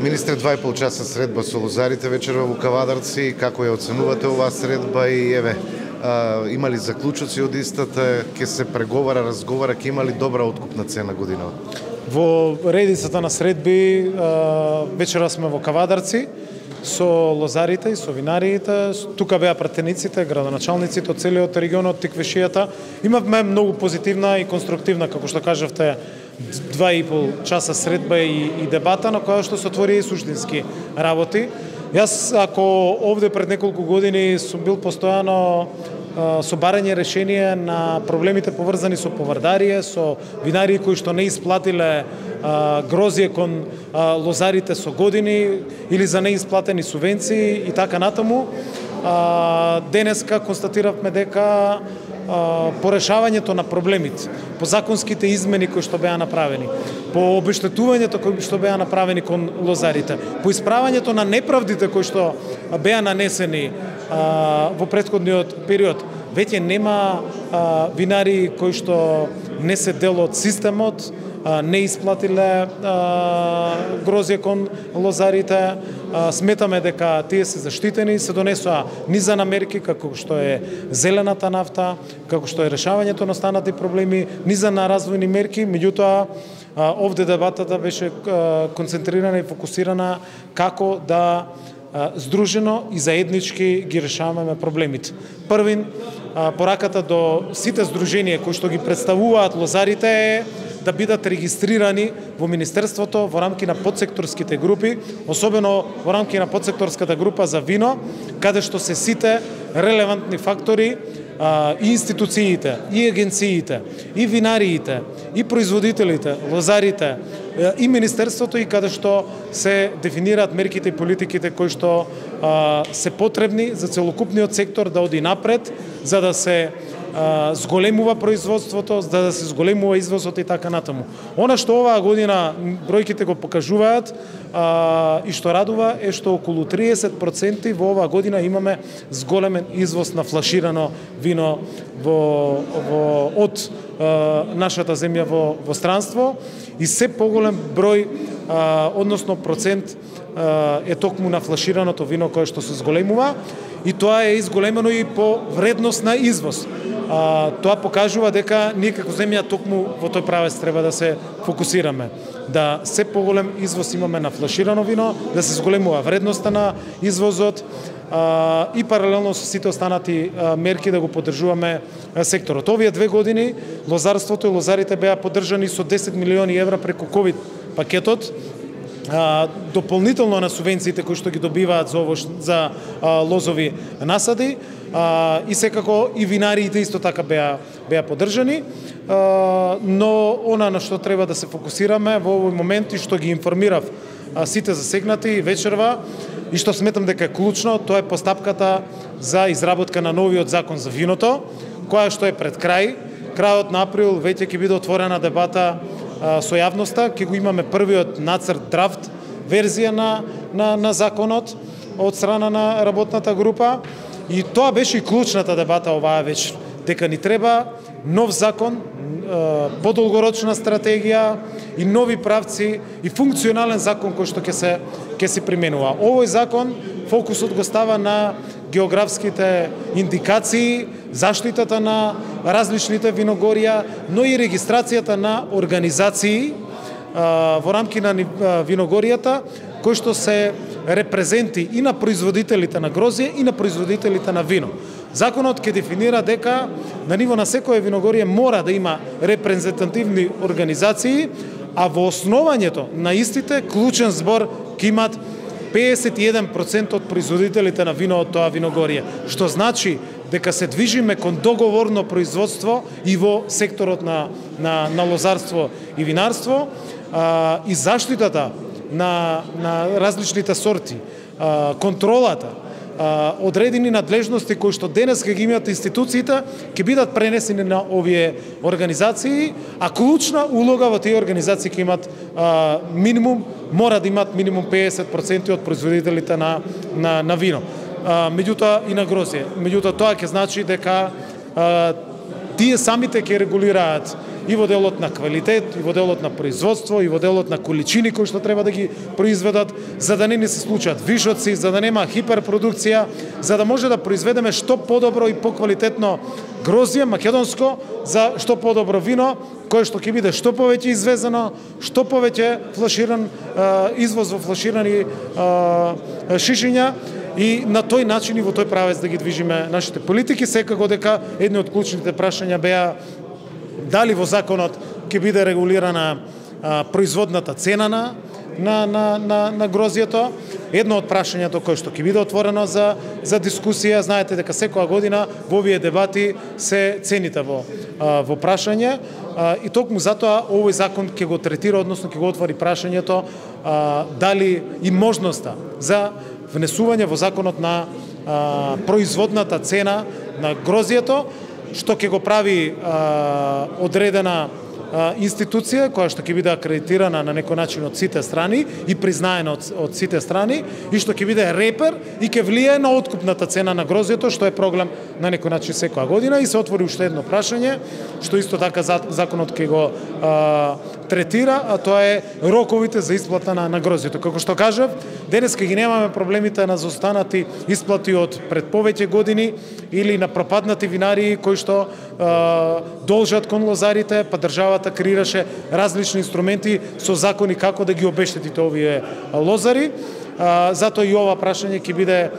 Министре, 2,5 часа средба со лозарите вечерва во Кавадарци. Како ја оценувате оваа средба и има ли заклучоци од истата, ќе се преговара, разговара, ќе има ли добра откупна цена годинава? Во редицата на средби вечера сме во Кавадарци со лозарите и со винариите. Тука беа пратениците, градоначалниците од целиот регион, од Тиквешијата. Имавме многу позитивна и конструктивна, како што кажавте, 2,5 часа средба и дебата на која што се отвори и суштински работи. Јас, ако овде пред неколку години сум бил постојано со барање решение на проблемите поврзани со поврдарие, со винарии кои што не исплатиле грозје кон лозарите со години или за неисплатени субвенции и така натаму. Денеска констатиравме дека по решавањето на проблемите, по законските измени кои што беа направени, по обештетувањето кои што беа направени кон лозарите, по исправањето на неправдите кои што беа нанесени во претходниот период, веќе нема винари кои што не се дел од системот, не исплатиле грозје кон лозарите. Сметаме дека тие се заштитени, се донесоа низа на мерки како што е зелената нафта, како што е решавањето на останати проблеми, низа на развојни мерки, меѓутоа овде дебатата беше концентрирана и фокусирана како да здружено и заеднички ги решаваме проблемите. Првин, пораката до сите здруженија кои што ги представуваат лозарите е да бидат регистрирани во Министерството во рамки на подсекторските групи, особено во рамки на подсекторската група за вино, каде што се сите релевантни фактори, и институциите, и агенциите, и винариите, и производителите, лозарите, и Министерството, и каде што се дефинираат мерките и политиките кои што се потребни за целокупниот сектор да оди напред, за да се зголемува производството, за да се зголемува извозот и така натаму. Она што оваа година бројките го покажуваат и што радува е што околу 30% во оваа година имаме зголемен извоз на флаширано вино од нашата земја во странство и се поголем број, односно процент е токму на флашираното вино кое што се зголемува и тоа е изголемено и по вредност на извоз. Тоа покажува дека ние како земја токму во тој правец треба да се фокусираме. Да се поголем извоз имаме на флаширано вино, да се зголемува вредноста на извозот и паралелно со сите останати мерки да го поддржуваме секторот. Овие 2 години лозарството и лозарите беа поддржани со 10 милиони евра преку ковид пакетот, дополнително на субвенциите кои што ги добиваат за лозови насади, и секако и винариите исто така беа поддржани, но она на што треба да се фокусираме во овој момент и што ги информирав сите засегнати вечерва и што сметам дека е клучно, тоа е постапката за изработка на новиот закон за виното, која што е пред крајот на април веќе ќе биде отворена дебата со јавноста, ќе го имаме првиот нацрт драфт верзија на законот од страна на работната група и тоа беше и клучната дебата оваа вечер, дека ни треба нов закон, подолгорочна стратегија и нови правци и функционален закон кој што ќе се применува. Овој закон фокусот го става на географските индикации, заштитата на различните виногорија, но и регистрацијата на организации во рамки на виногоријата, кои што се репрезенти и на производителите на грозје и на производителите на вино. Законот ќе дефинира дека на ниво на секоја виногорие мора да има репрезентативни организации, а во основањето на истите клучен збор ќе имат 51% од производителите на вино од тоа виногорие, што значи дека се движиме кон договорно производство и во секторот на лозарство и винарство, и заштитата на различните сорти, контролата, одредени надлежности кои што денес ќе ги имаат институциите, ќе бидат пренесени на овие организации, а клучна улога во тие организации ќе имат минимум, мора да имат минимум 50% од производителите на вино. Меѓутоа и на грозје. Меѓутоа тоа ќе значи дека тие самите ќе регулираат и во делот на квалитет, и во делот на производство, и во делот на количини кои што треба да ги произведат, за да не ни се случат вишоци, за да нема хиперпродукција, за да може да произведеме што подобро и поквалитетно грозје македонско, за што подобро вино, кое што ќе биде што повеќе извезено, што повеќе флаширан извоз во флаширани шишиња, и на тој начин и во тој правец да ги движиме нашите политики. Секако дека едни од клучните прашања беа дали во законот ќе биде регулирана производната цена на грозјето. Едно од прашањето кое што ќе биде отворено за дискусија, знаете дека секоја година во овие дебати се цените во прашање, и токму затоа овој закон ќе го третира, односно ќе го отвори прашањето дали и можноста за внесување во законот на производната цена на грозјето, што ќе го прави одредена институција која што ќе биде акредитирана на некој начин од сите страни и признаена од сите страни, и што ќе биде репер и ќе влијае на откупната цена на грозјето, што е проблем на некој начин секоја година. И се отвори уште едно прашање, што исто така законот ќе го третира, а тоа е роковите за исплата на грозјето. Како што кажав, денеска ги немаме проблемите на заостанати исплати од пред повеќе години или на пропаднати винарии кои што должат кон лозарите, па државата креираше различни инструменти со закони како да ги обештетите овие лозари. Затоа и ова прашање ќе биде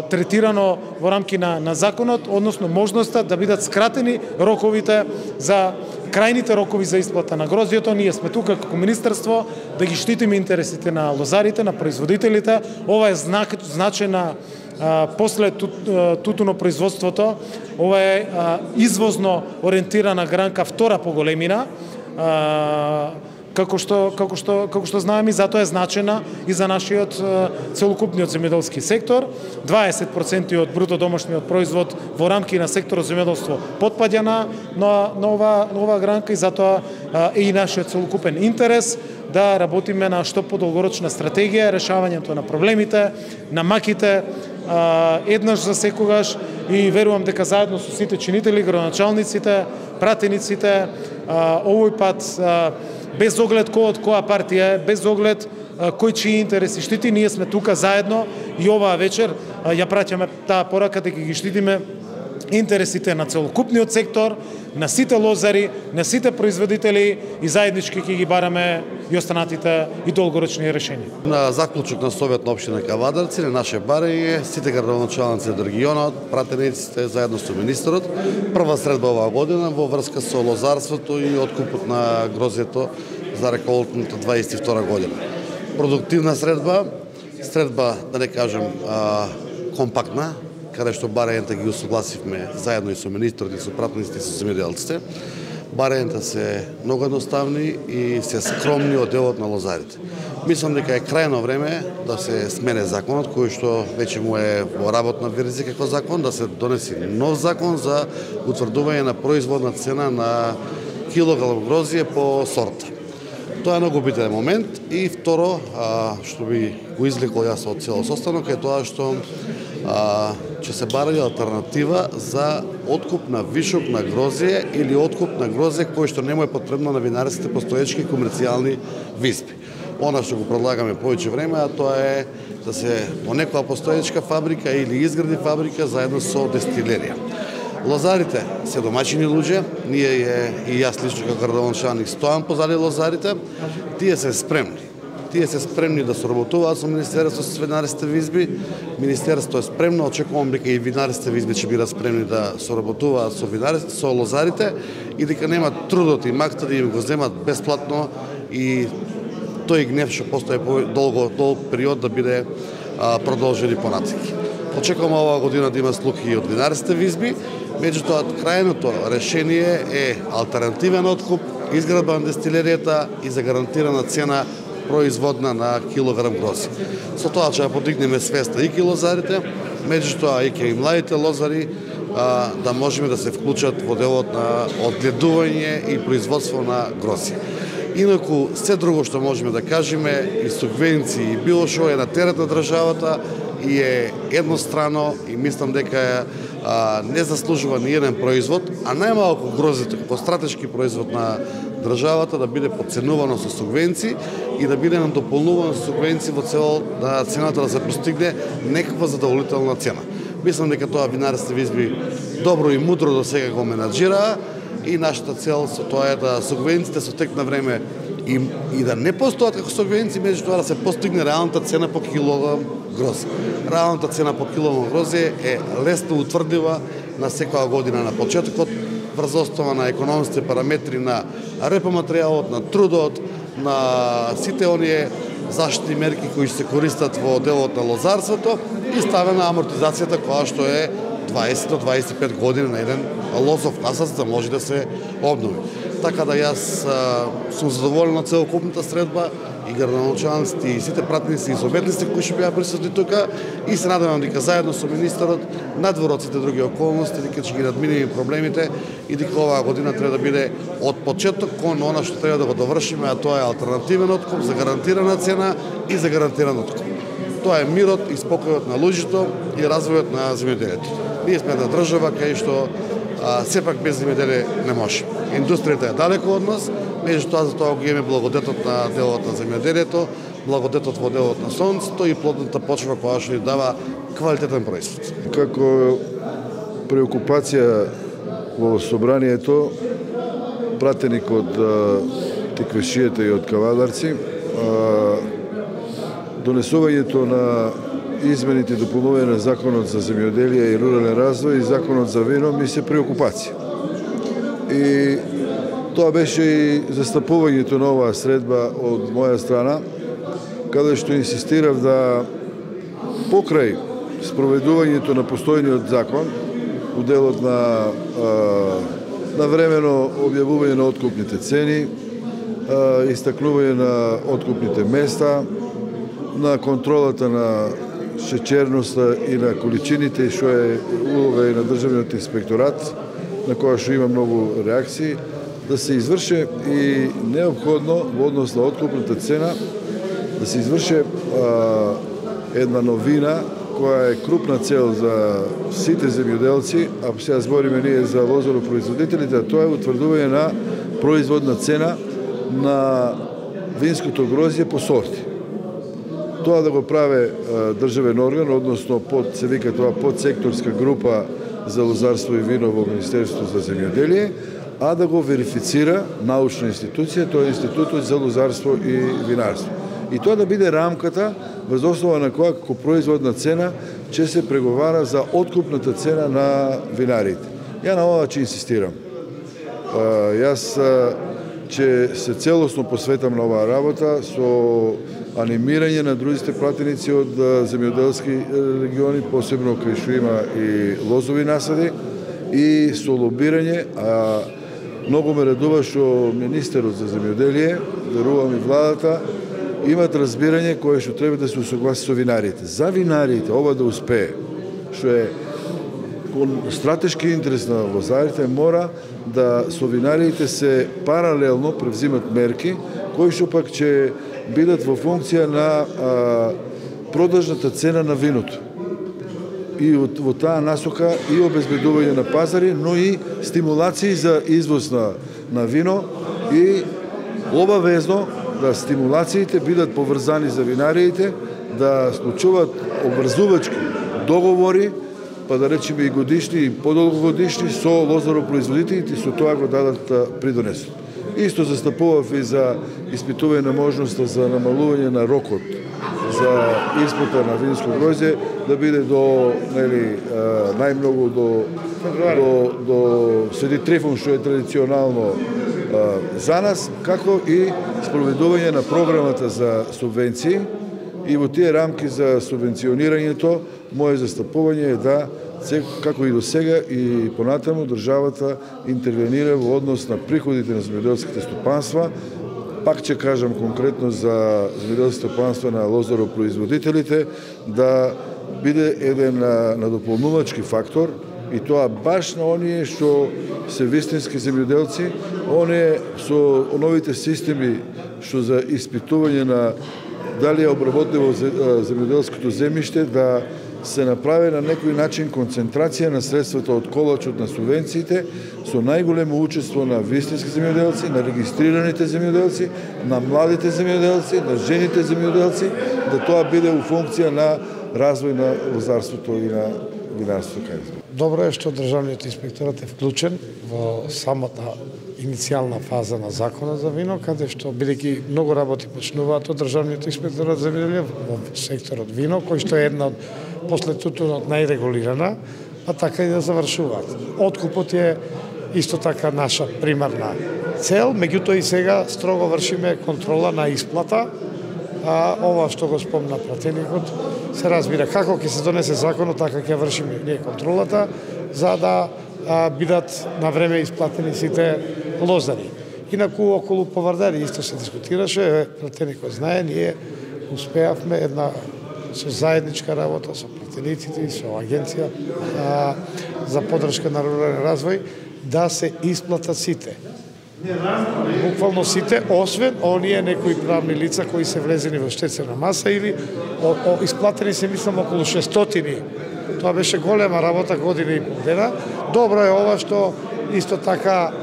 третирано во рамки на законот, односно можноста да бидат скратени роковите за крајните рокови за исплата на грозјето. Ние сме тука како министерство да ги штитиме интересите на лозарите, на производителите. Ова е значајна после тутунопроизводството, ова е извозно ориентирана гранка втора по големина, како што знаеме, затоа е значена и за нашиот целокупниот земјоделски сектор. 20% од бруто домашниот производ во рамки на секторот земјоделство потпаѓа на ова гранка, и затоа е и нашиот целокупен интерес да работиме на што подолгорочна стратегија, решавањето на проблемите, на маките, еднаш за секогаш, и верувам дека заедно со сите чинители, градоначалниците, пратениците, овој пат без оглед кој од која партија е, без оглед кој чии интереси штити, ние сме тука заедно и оваа вечер ја праќаме таа порака дека ги штитиме интересите на целокупниот сектор, на сите лозари, на сите производители, и заеднички ќе ги бараме и останатите и долгорочни решенија. На заклучок на Совет на општина Кавадарци, на наше барање, сите градоначалници од регионот, пратениците заедно со министерот, прва средба оваа година во врска со лозарството и откупот на грозјето за реколтната 22 година. Продуктивна средба, да не кажем компактна, каде што барањата ги усогласивме заедно и со министрот и со пратениците и со земјоделците. Барањата се многу едноставни и се скромни од делот на лозарите. Мислам дека е крајно време да се смене законот, кој што веќе му е во работна верзија како закон, да се донеси нов закон за утврдување на производна цена на килограм грозје по сорта. Тоа е многу битен момент. И второ, што би го извлекол јас од цело состанок, е тоа што ќе се барање алтернатива за откуп на вишок на грозје или откуп на грозје кој што не му е потребно на винарските постоечки комерцијални виспи. Она што го предлагаме повеќе време, а тоа е да се во некоја постоечка фабрика или изгради фабрика заедно со дестилерија. Лозарите се домаќини луѓе, ние и јас лично како градоначалник стоам позади лозарите, тие се спремни. Тие се спремни да соработуваат со Министерството со винарските визби. Министерството е спремно, очекувам дека и винарските визби ќе бидат спремни да соработуваат со лозарите и дека немат трудот и макта да им го земат бесплатно и тој гнев што постои долг период да биде продолжен и понатаки. Очекувам оваа година да има слух и од винарските визби, меѓутоа крајното решение е алтернативен откуп, изградба на дестилеријата и за гарантирана цена производна на килограм грозје. Со тоа ќе подигнеме свеста и лозарите, меѓутоа и и младите лозари да можеме да се вклучат во делот на одгледување и производство на грозје. Инаку, се друго што можеме да кажеме, и субвенции и било што е на терет на државата и е еднострано, и мислам дека не заслужува ни еден производ, а најмалку грозето како стратешки производ на државата да биде подценувано со субвенции и да биде надополнувано со субвенции во цел да цената да се постигне некаква задоволителна цена. Мислам дека тоа винарските визби добро и мудро до сега го менаџираа и нашата цел со тоа е да субвенциите со тек на време и да не постојат како субвенции, меѓутоа да се постигне реалната цена по килограм грозде. Реалната цена по килограм грозде е лесно утврдива на секоја година на почетокот врз основа на економските параметри на репоматеријалот, на трудот, на сите оние заштитни мерки кои се користат во делот на лозарството и ставена амортизацијата која што е 20 до 25 години на еден лозов насад да може да се обнови. Така да јас сум задоволен од целокупната средба и градоначалниците и сите пратеници и советници кои ќе беа присутни тука и се надевам дека заедно со министерот надвор од сите други околности дека ќе ги надминеме проблемите и дека оваа година треба да биде од почеток кон она што треба да го довршиме, а тоа е алтернативен откуп за гарантирана цена и за гарантиран откуп. Тоа е мирот и спокојот на луѓето и развојот на земјоделието. Ние сме една држава кај што сепак без земјоделие не може. Индустријата е далеко од нас, меѓутоа за тоа го имаме благодетот на делот на земјоделието, благодетот во делот на сонцето и плодната почва која што ни дава квалитетен производ. Како преокупација во собранието, пратеник од тиквешијата и од кавадарци, донесувањето на измените и дополнување на Законот за земјоделие и рурален развој и Законот за вино ми се преокупација. И тоа беше и застапувањето на оваа средба од моја страна, каде што инсистирав да покрај спроведувањето на постојниот закон, у делот на времено објавување на откупните цени, истакнување на откупните места, на контролата на шеќерноста и на количините, што е улога и на Државниот инспекторат, на која што има многу реакции, да се изврше и неопходно во однос на откупната цена, да се изврше една новина која е крупна цел за сите земјоделци, а сега збориме ние за лозаропроизводителите, а тоа е утврдување на производна цена на винското грозје по сорти. Тоа да го праве државен орган, односно се вика тоа подсекторска група за лозарство и вино во Министерството за земјоделие, а да го верифицира научна институција, тоа е Институтот за лозарство и винарство. И тоа да биде рамката врз основа на која како производна цена ќе се преговара за откупната цена на винариите. Ја на ова ќе инсистирам. Јас ќе се целосно посветам на оваа работа со анимирање на другите пратеници од земјоделски региони, посебно кај што има и лозови насади, и со лобирање, а многу ме радува што министерот за земјоделие, верувам и владата, имат разбирање кое што треба да се усогласи со винарите. За винарите ова да успее, што е стратешки интерес на лозарите, мора да со винарите се паралелно превзимат мерки, кои што пак ќе бидат во функција на продажната цена на виното. И во таа насока и обезбедување на пазари, но и стимулации за извоз на вино и обавезно да стимулациите бидат поврзани за винариите, да склучуваат обврзувачки договори, па да речеме и годишни и подолгогодишни со лозаропроизводителите и со тоа го дадат придонесот. Исто застапував и за испитување на можноста за намалување на рокот за испота на винско грозје, да биде до најмногу до Свети Трифун, што е традиционално за нас, како и спроведување на програмата за субвенции. И во тие рамки за субвенционирањето, моје застапување е да, како и до сега и понатаму, државата интервенира во однос на приходите на земјоделските стопанства. Пак ќе кажам конкретно за земјоделските стопанства на лозаропроизводителите, да биде еден надополнувачки фактор, и тоа баш на оние што се вистински земјоделци, оние со новите системи што за испитување на дали е обработливо земјоделското земјиште, да се направи на некој начин концентрација на средствата од колачот на субвенциите со најголемо учество на вистински земјоделци, на регистрираните земјоделци, на младите земјоделци, на жените земјоделци, да тоа биде у функција на развој на лозарството и на винарството. Добро е што државниот инспекторат е вклучен во самата иницијална фаза на законот за вино, каде што бидејќи многу работи почнуваат од државниот инспекторат за земјоделие во секторот вино, кој што е една од после тутунот најрегулирана, па така и да завршуваат. Откупот е исто така наша примарна цел, меѓутоа и сега строго вршиме контрола на исплата. Ова што го спомна пратеникот, се разбира како ќе се донесе законот, така ќе вршиме ние контролата, за да бидат на време исплатени сите лозари. Инаку околу повардари исто се дискутираше, пратеникот знае, ние успеавме една со заедничка работа со пратениците и со агенција за поддршка на рурален развој да се исплатат сите. Буквално сите, освен оние некои правни лица кои се влезени во штетствена маса или исплатени се мислам околу 600. Тоа беше голема работа, година и полдена. Добро е ова што исто така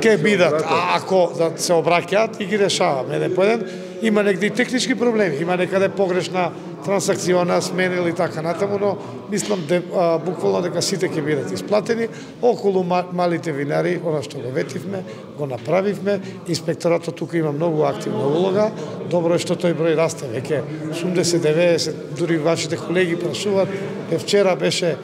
ќе бидат, ако да се обраќаат и ги решаваме еден по еден. Има негде и технички проблеми, има некаде погрешна трансакциона, смена или така натаму, но мислам буквално дека сите ќе бидат исплатени. Околу малите винари, она што го ветивме, го направивме. Инспекторатот тука има многу активна улога. Добро е што тој број расте веќе 80-90, дури вашите колеги прашуваат. Вчера беше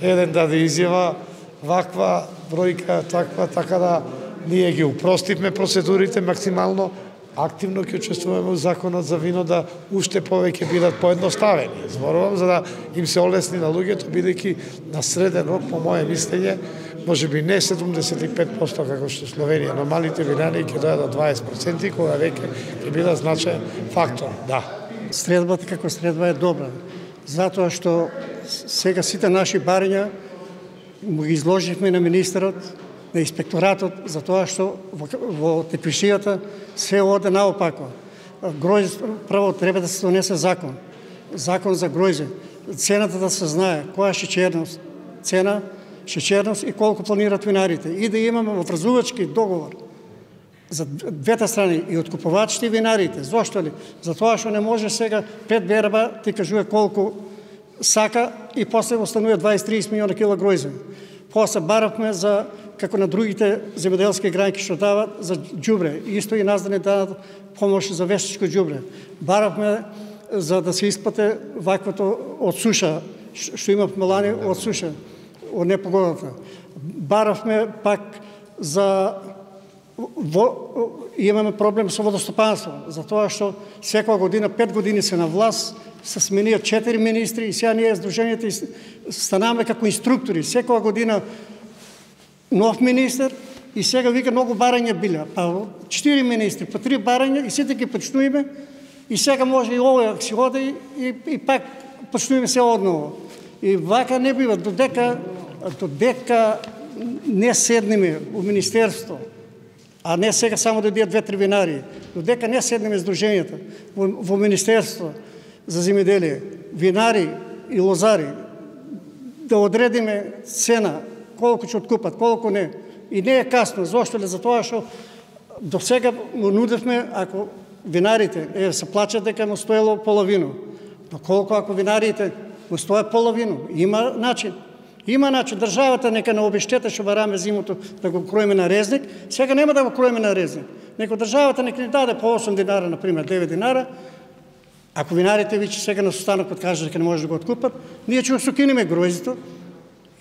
еден даде изјава, ваква бројка, таква, така да ние ги упростивме процедурите максимално. Активно ќе учествуваме во законот за вино да уште повеќе бидат поедноставени. Зборувам за да им се олесни на луѓето, бидејќи на среден рок, по моје мислење, можеби не 75% како што Словенија, но малите винари ќе дојдат до 20%, кога веќе ќе бидат значаен фактор. Да. Средбата како средба е добра, затоа што сега сите наши барања му ги изложивме на министерот, на инспекторатот, за тоа што во теквишијата се оде наопако. Гројзе, прво треба да се донесе закон. Закон за гројзе. Цената да се знае, која шеќерност, цена, шеќерност и колку планират винарите. И да имаме врзувачки договор за двете страни, и откупувачите и винарите. Зошто ли? Затоа што не може сега 5 берба ти кажува колку сака и после останува 20-30 милиона кила гројзе. После баравме за како на другите земјоделски гранки што дават за џубре. Исто и нас да не дадат помош за вештичко џубре. Баравме за да се исплате ваквото од суша, што имавме лани од суша, од непогодата. Баравме пак за имаме проблем со водостопанство, затоа што секоја година, 5 години се на власт, се смениат 4 министри и сега ние Сдруженијата станаме како инструктори. Секоја година нов министр и сега вика многу барања биле. Па 4 министри, по 3 барања и сите ги почнуваме и сега може и ова да си оде и пак почнуваме се одново. И вака не бива, додека не седнеме у министерство, а не сега само да бидат 2-3 винари, додека не седнеме Сдруженијата во министерство за земјоделие, винари и лозари, да одредиме цена, колку ќе откупат, колку не. И не е касно. Зошто ли? Затоа што до сега му нудевме, ако винарите се плачат дека му стоело половино. Но колку ако винарите му стоят половино? Има начин. Има начин. Државата нека не обештета што бараме зимото да го кроиме на резник. Сега нема да го кроиме на резник. Неко државата нека ни даде по 8 динара, например 9 динара. Ако винарите веќе сега на состанокот кажат дека не може да го откупат, ние ќе сукиниме гројзето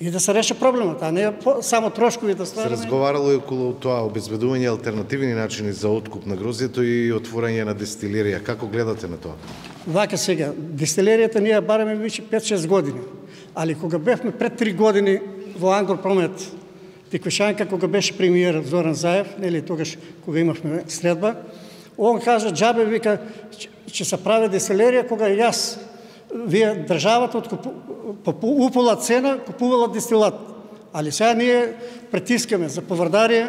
и да се реши проблемот, а не само трошкови да ствараме. Се разговарало и околу тоа обезбедување алтернативни начини за откуп на гроздето и отворање на дестилерија. Како гледате на тоа? Вака сега, дестилеријата ние бараме веќе 5-6 години. Али кога бевме пред 3 години во Ангропромет, Теквишанка, кога беше премиер Зоран Заев, нели тогаш кога имавме средба, он кажа џабе вика ќе се прави дестилерија кога јас вие државата по упола цена купувала дестилат. Али сега ние притискаме за повардарија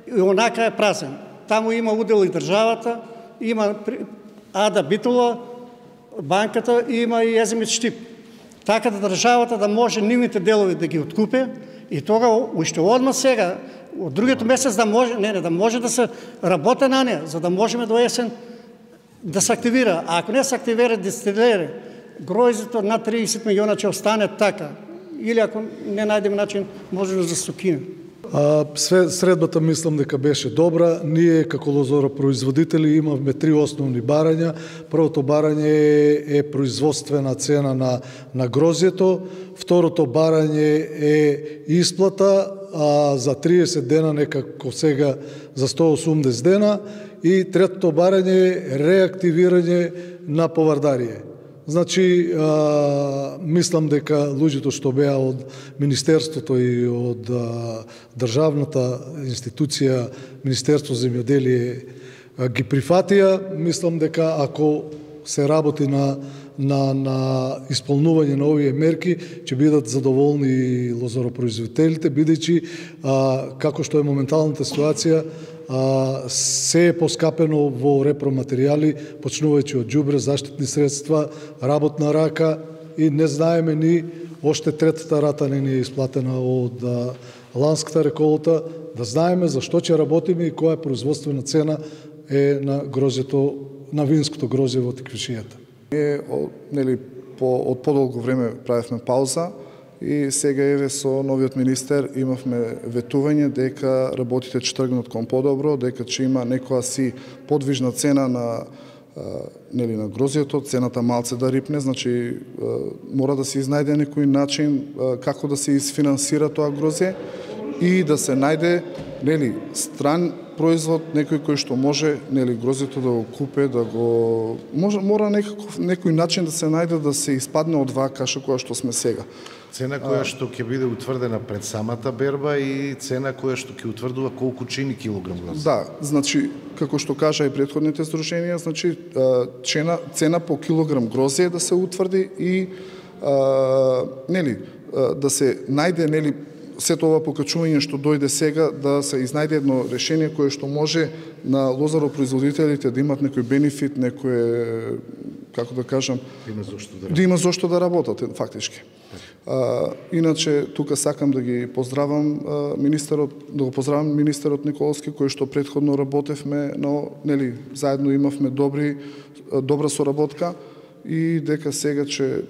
и онака е празен. Таму има удел и државата, има Ада Битула, банката има и Езимит Штип. Така да државата да може нивните делови да ги откупе и тога уште одма сега, од другиот месец да може, да може да се работи на неа, за да можеме до есен да се активира. А ако не се активира дистилери, гроздето на 30 милиона ќе остане така. Или ако не најдеме начин, може да се укине. Средбата мислам дека беше добра. Ние како лозоропроизводители имавме 3 основни барања. Првото барање е производствена цена на грозјето, второто барање е исплата за 30 дена, некако сега за 180 дена, и третото барање е реактивирање на повардарие. Значи, мислам дека луѓето што беа од Министерството и од државната институција Министерство за земјоделие ги прифатија. Мислам дека ако се работи на исполнување на овие мерки, ќе бидат задоволни и лозоропроизводителите, бидејќи како што е моменталната ситуација, се е поскапено во репроматеријали, почнувајќи од џубре, заштитни средства, работна рака, и не знаеме ни оште третата рата не ни е исплатена од ланската реколта, да знаеме за што ќе работиме и која производствена цена е на грозјето, на винското грозје во теквишијата. Од подолго време правевме пауза и сега еве со новиот министер имавме ветување дека работите ќе тргнат кон подобро, дека ќе има некоја си подвижна цена на грозјето, цената малце да рипне, значи мора да се изнајде некој начин како да се изфинансира тоа грозје и да се најде стран производ, некој кој што може грозјето да го купе, да го мора некој начин да се најде да се испадне од ваа каша која што сме сега. Цена која што ќе биде утврдена пред самата берба и цена која што ќе утврдува колку чини килограм грозје. Да, значи како што кажа и претходните здруженија, значи цена по килограм грозје да се утврди и да се најде сето ова покачување што дојде сега, да се изнајде едно решение кое што може на лозаропроизводителите да имат некој бенефит, некој, како да кажам, да има зошто да работат фактички. Иначе тука сакам да ги поздравам министерот, да го поздравам министерот Николовски, кој што претходно работевме, но заедно имавме добра соработка и дека сега ќе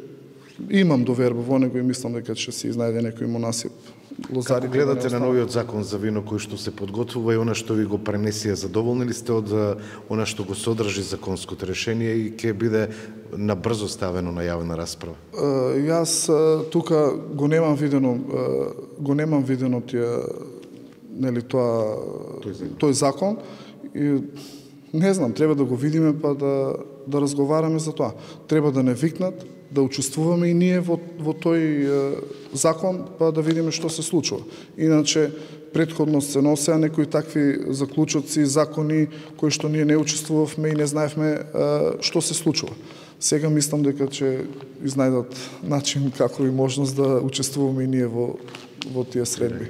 имам доверба во него и мислам дека ќе се изнајде некој монасип. Како гледате на новиот закон за вино кој што се подготвува и она што ви го пренесија, задоволни ли сте од она што го содржи законското решение и ќе биде набрзо ставено на јавна расправа? Јас тука го немам видено тој закон и не знам, треба да го видиме па да разговараме за тоа. Треба да не викнат, да учествуваме и ние во тој закон, па да видиме што се случува. Иначе, претходно се носеа некои такви заклучоци, закони, кои што ние не учествувавме и не знаевме што се случува. Сега мислам дека ќе изнајдат начин како и можност да учествуваме и ние во тие средби.